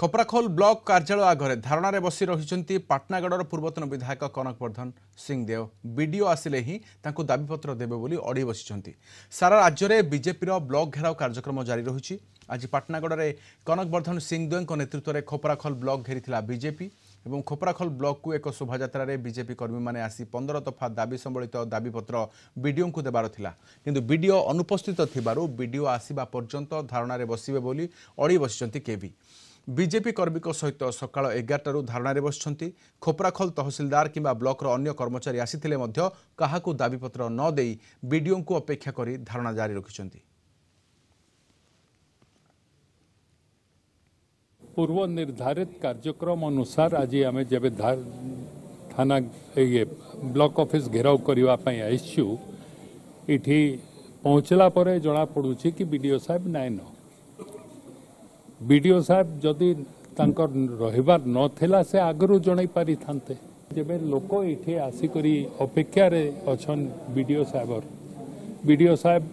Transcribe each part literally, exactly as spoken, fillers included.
Khaprakhol block କାର୍ଯ୍ୟାଳୟ ଆଗରେ ଧାରଣାରେ ବସି ରହିଛନ୍ତି ପାଟନାଗଡ଼ର ପୂର୍ବତନ ବିଧାୟକ କନକ ବର୍ଦ୍ଧନ ସିଂଦେଓ। ବିଡିଓ ଆସିଲେ ହିଁ ତାଙ୍କୁ ଦାବିପତ୍ର ଦେବେ ବୋଲି ଅଡ଼ି ବସିଛନ୍ତି। ସାରା ରାଜ୍ୟରେ ବିଜେପିର ବ୍ଲକ ଘେରାଉ କାର୍ଯ୍ୟକ୍ରମ ଜାରି ରହିଛି। ଆଜି ପାଟନାଗଡ଼ରେ କନକ ବର୍ଦ୍ଧନ ସିଂଦେଓଙ୍କ ନେତୃତ୍ୱରେ ଖପ୍ରାଖୋଲ ବ୍ଲକ ଘେରିଥିଲା ବିଜେପି ଏବଂ ଖପ୍ରାଖୋଲ ବ୍ଲକକୁ ଏକ ଶୋଭାଯାତ୍ରାରେ ବିଜେପି କର୍ମୀମାନେ ଆସି ପନ୍ଦର ଦଫା ଦାବି ସମ୍ବଳିତ ଦାବିପତ୍ର ବିଡିଓଙ୍କୁ ଦେବାର ଥିଲା, କିନ୍ତୁ ବିଡିଓ ଅନୁପସ୍ଥିତ ଥିବାରୁ ବିଡିଓ ଆସିବା ପର୍ଯ୍ୟନ୍ତ ଧାରଣାରେ ବସିବେ ବୋଲି ଅଡ଼ି ବସିଛନ୍ତି କେଭି। ବିଜେପି କର୍ମୀଙ୍କ ସହିତ ସକାଳ ଏଗାରଟାରୁ ଧାରଣାରେ ବସିଛନ୍ତି। ଖୋପରାଖୋଲ ତହସିଲଦାର କିମ୍ବା ବ୍ଲକର ଅନ୍ୟ କର୍ମଚାରୀ ଆସିଥିଲେ ମଧ୍ୟ କାହାକୁ ଦାବିପତ୍ର ନ ଦେଇ ବିଡିଓଙ୍କୁ ଅପେକ୍ଷା କରି ଧାରଣା ଜାରି ରଖିଛନ୍ତି। ପୂର୍ବ ନିର୍ଦ୍ଧାରିତ କାର୍ଯ୍ୟକ୍ରମ ଅନୁସାର ଆଜି ଆମେ ଯେବେ ଥାନା ଇଏ ବ୍ଲକ ଅଫିସ ଘେରାଉ କରିବା ପାଇଁ ଆସିଛୁ, ଏଠି ପହଞ୍ଚିଲା ପରେ ଜଣାପଡ଼ୁଛି କି ବିଡ଼ିଓ ସାହେବ ନାଇଁନ। ବିଡ଼ିଓ ସାହେବ ଯଦି ତାଙ୍କର ରହିବାର ନଥିଲା, ସେ ଆଗରୁ ଜଣାଇ ପାରିଥାନ୍ତେ। ଯେବେ ଲୋକ ଏଠି ଆସିକରି ଅପେକ୍ଷାରେ ଅଛନ୍ ବିଡ଼ିଓ ସାହେବର, ବିଡ଼ିଓ ସାହେବ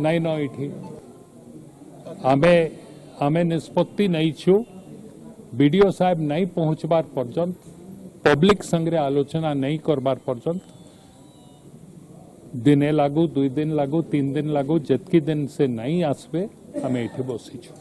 ନାଇଁନ ଏଠି। ଆମେ ଆମେ ନିଷ୍ପତ୍ତି ନେଇଛୁ, ବିଡ଼ିଓ ସାହେବ ନାଇଁ ପହଞ୍ଚିବାର ପର୍ଯ୍ୟନ୍ତ, ପବ୍ଲିକ ସାଙ୍ଗରେ ଆଲୋଚନା ନାଇଁ କରବାର ପର୍ଯ୍ୟନ୍ତ, ଦିନେ ଲାଗୁ, ଦୁଇ ଦିନ ଲାଗୁ, ତିନି ଦିନ ଲାଗୁ, ଯେତିକି ଦିନ ସେ ନାଇଁ ଆସିବେ, ଆମେ ଏଠି ବସିଛୁ।